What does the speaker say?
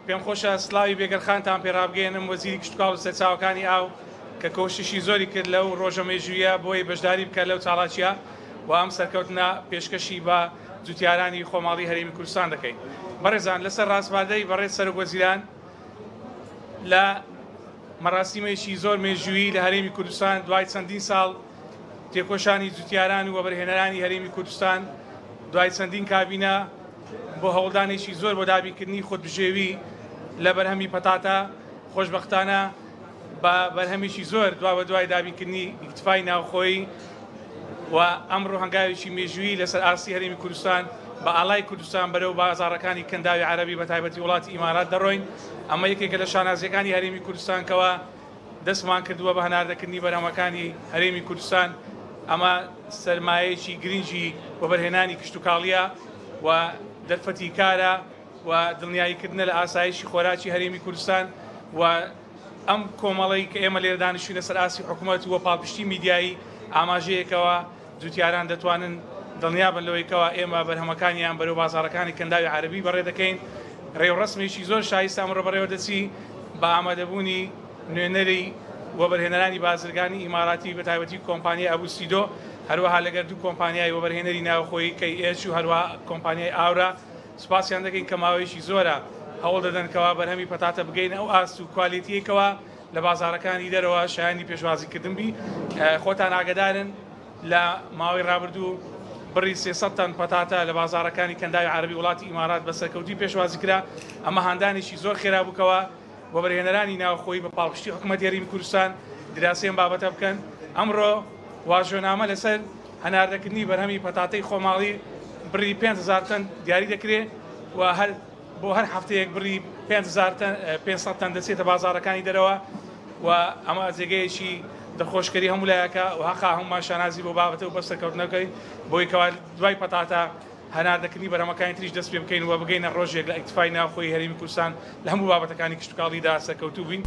پێم خۆشە سڵاوی بێگەرخانتان پێ ڕابگەیەنم، وەزیری کشتوکاڵ و سەرچاوەکانی ئاو کە کۆششی زۆری کرد لەو ڕۆژە مێژوویە بۆی بەشداری بکات لەو چاڵاکییە و ئەم سەرکەوتنە پێشکەشی بە جوتیارانی خۆماڵی هەرێمی کوردستان دەکەین. بەڕێزان لەسەر ڕاسپاردەی بەڕێز سەرۆک وەزیران لە مەراسیمێکی زۆر مێژوویی لە هەرێمی کوردستان دوای چەندین ساڵ تێکۆشانی جوتیاران و وەبەرهێنەرانی هەرێمی کوردستان دوای چەندین کابینە بۆ هەوڵدانێکی زۆر بۆ دابینکردنی خودبژێوی لە بەرهەمی پەتاتە، خۆشبەختانە بە بەرهەمێکی زۆر دوابەدوای دابینکردنی ئیکتفای ناوخۆیی و ئەمڕۆ هەنگاوێکی مێژوویی لەسەر ئاستی هەرێمی کوردستان بە ئاڵای کوردستان بەرەو بازاڕەکانی کەنداوی عەرەبی بەتایبەتی وڵاتی ئیمارات دەڕۆین، ئەمە یەکێکە لە شانازییەکانی هەرێمی کوردستان کەوا دەستمان کردووە بە هەناردەکردنی بەرهەمەکانی هەرێمی کوردستان، ئەمە سەرمایەیەکی گرنگی وەبەرهێنانی کشتوکاڵییە و دەرفەتی کارە و دڵنیاییکردنە لە ئاسایشی خۆراکی هەرێمی کوردستان و ئەم کۆمەڵەی کە ئێمە لێرە دانیشتوین لەسەر ئاستی حکومەت و پاڵپشتی میدیایی ئاماژەیەکەوە جوتیاران دەتوانن دڵنیابن لەوەی کەوا ئێمە بەرهەمەکانیان بەرەو بازاڕەکانی کەنداوی عەرەبی بەڕێ دەکەین. ڕێوڕەسمێکی زۆر شایستە ئەمڕۆ بەڕێوە دەچی بە ئامادەبوونی نوێنەری وەبەرهێنەرانی بازرگانی ئیماراتی بەتایبەتی کۆمپانیای ئەبو سیدۆ، هەروەها لەگەر دوو کۆمپانیای وەبەرهێنەری ناوخۆیی کەی ئێچ و هەروەها کۆمپانیای ئاورا سوپاسیان دەکەین کە ماوەیەکی زۆرە هەوڵ دەدەن کەوا بەرهەمی پەتاتە بگەینە ئەو ئاست و کوالێتیەی کەوا لە بازاڕەکانی دەرەوە شایانی پێشوازیکردن بی. خۆتان ئاگەدارن لە ماوەی ڕابردوو بڕی 300 تەن پەتاتە لە بازاڕەکانی کەنداوی عەرەبی وڵاتی ئیمارات بە سەرکەوتووی پێشوازی کرا. ئەمە هاندانێکی زۆر خێرا بوو کەوا وەبەرهێنەرانی ناوخۆیی بە پاڵپشتی حکومەتی هەرێمی کوردستان دیراسەی ئەم بابەتە بکەن. ئەمڕۆ واژۆنامە لەسەر هەناردەکردنی بەرهەمی پەتاتەی خۆماڵی بڕی 5000 تەن دیاری دەکرێ و هەر بۆ هەر هەفتەیەک بڕی 5000 تەن 500 تەن دەچێتە بازاڕەکانی دەرەوە و ئەمە جێگەیەکی دڵخۆشکەری هەموو لایەکە و هەقا هەموومان شانازی بۆ بابەتە و بە سەرکەوتنەکەی بۆی کەوا دوای پەتاتە هەناردەکردنی بەرهەمەکانی تریش دەست پێ بکەین و بگەینە ڕۆژێک لە ئیکتفای ناوخۆی هەرێمی کوردستان لە هەموو بابەتەکانی کشتوکاڵیدا سەرکەوتوو بین.